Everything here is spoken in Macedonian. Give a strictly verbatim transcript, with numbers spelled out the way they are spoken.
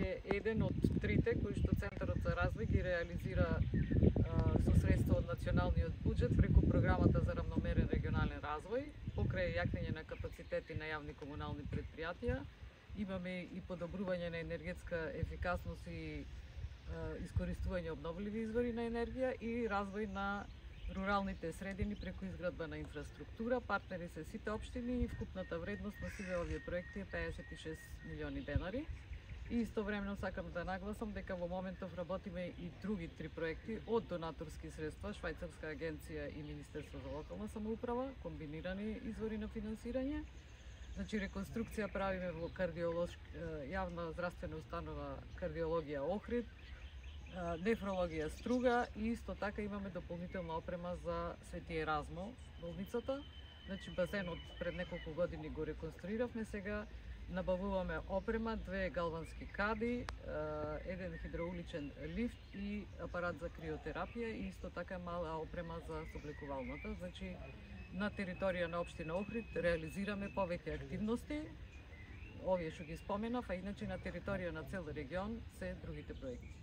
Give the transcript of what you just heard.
е еден од трите кои што Центарот за развој ги реализира а, со средства од националниот буџет преку програмата за равномерен регионален развој, покрај јакнење на капацитети на јавни комунални предпријатија. Имаме и подобрување на енергетска ефикасност и а, искористување обновливи извори на енергија и развој на руралните средини преку изградба на инфраструктура. Партнери се сите општини и вкупната вредност на сиве овие проекти е пеесет и шест милиони денари. И истовремено сакам да нагласам дека во моментов работиме и други три проекти од донаторски средства, Швајцарска агенција и Министерство за локална самоуправа, комбинирани извори на финансирање. Значи, реконструкција правиме во кардиолошка јавна здравствена установа кардиологија Охрид, нефрологија Струга и исто така имаме дополнителна опрема за Свети Еразмо, болницата. Значи, базенот пред неколку години го реконструиравме, сега набавуваме опрема, две галвански кади, еден хидроуличен лифт и апарат за криотерапија и исто така мала опрема за соблекувалната. Значи, на територија на општина Охрид реализираме повеќе активности, овие што ги споменав, а иначе на територија на цел регион се другите проекти.